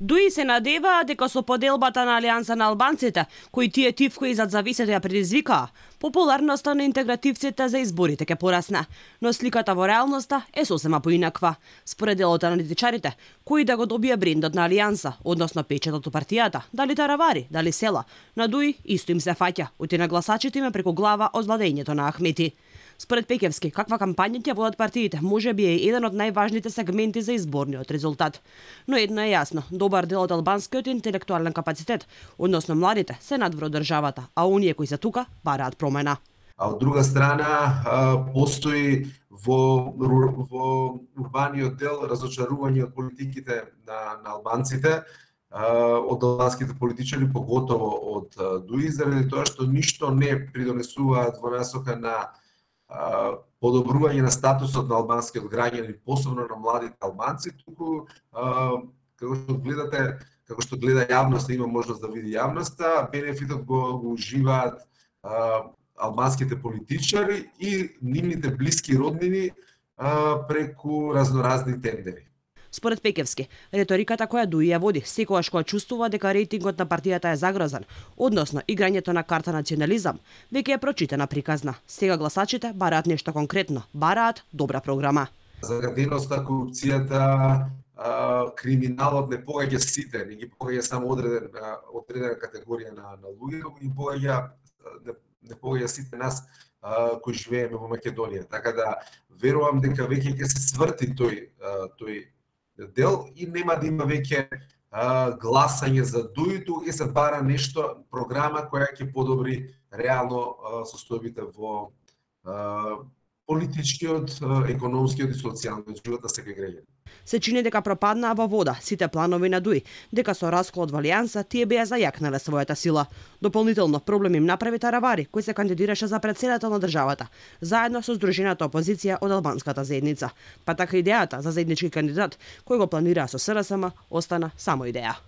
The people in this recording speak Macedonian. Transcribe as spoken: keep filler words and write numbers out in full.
Дуи се надеваа дека со поделбата на Алијанса на албанците, кои тие тивко изад зависите ја предизвикаа, популарноста на интегративците за изборите ќе порасне, но сликата во реалноста е сосема поинаква. Според делот аналитичарите, кои да го добие брендот на Алијанса, односно печатот у партијата, дали таравари, дали села, на Дуи исто им се фаќа, оти на гласачите им е преку глава од владењето на Ахмети. Според Пекевски, каква кампања ќе водат партиите, може би е еден од најважните сегменти за изборниот резултат. Но едно е јасно, добар дел од албанскиот интелектуален капацитет, односно младите, се надвор од државата, а оние кои се тука бараат промена. А од друга страна, постои во, во урбаниот дел разочарување од политиките на, на албанците, од албанските политичари, поготово од Дуи, заради тоа што ништо не придонесуваат во насока на подобрување на статусот на албанскиот граѓанин, посебно на младите албанци, туку како што гледате, како што гледа јавноста, има можност да види јавноста, бенефитот го, го уживаат албанските политичари и нивните блиски роднини преку разноразни тендери. Според Пекевски, реториката која Дуи ја води секогаш кога чувствува дека рейтингот на партијата е загрозен, односно играњето на карта национализам, веќе е прочитана приказна. Сега гласачите бараат нешто конкретно, бараат добра програма. Загаденоста, корупцијата, криминалот не погаѓа сите, не ги погаѓа само одреден, одредена категорија на, на луѓе, но ги погаѓа, не, не погаѓа сите нас кои живееме во Македонија. Така да верувам дека веќе ќе се сврти тој тој дел и нема да има веќе гласање за Дуиту и се бара нешто, програма која ќе подобри реално состојбите во политичкиот, економскиот и социјалниот живот на секој граѓанин. Се чини дека пропаднаа во вода сите планови на Дуи, дека со расколот во Алијанса тие беа зајакнале својата сила. Дополнително проблем им направи Таравари, кој се кандидираше за претседател на државата, заедно со здружената опозиција од албанската заедница. Па така идејата за заеднички кандидат, кој го планираа со СРСМ, остана само идеја.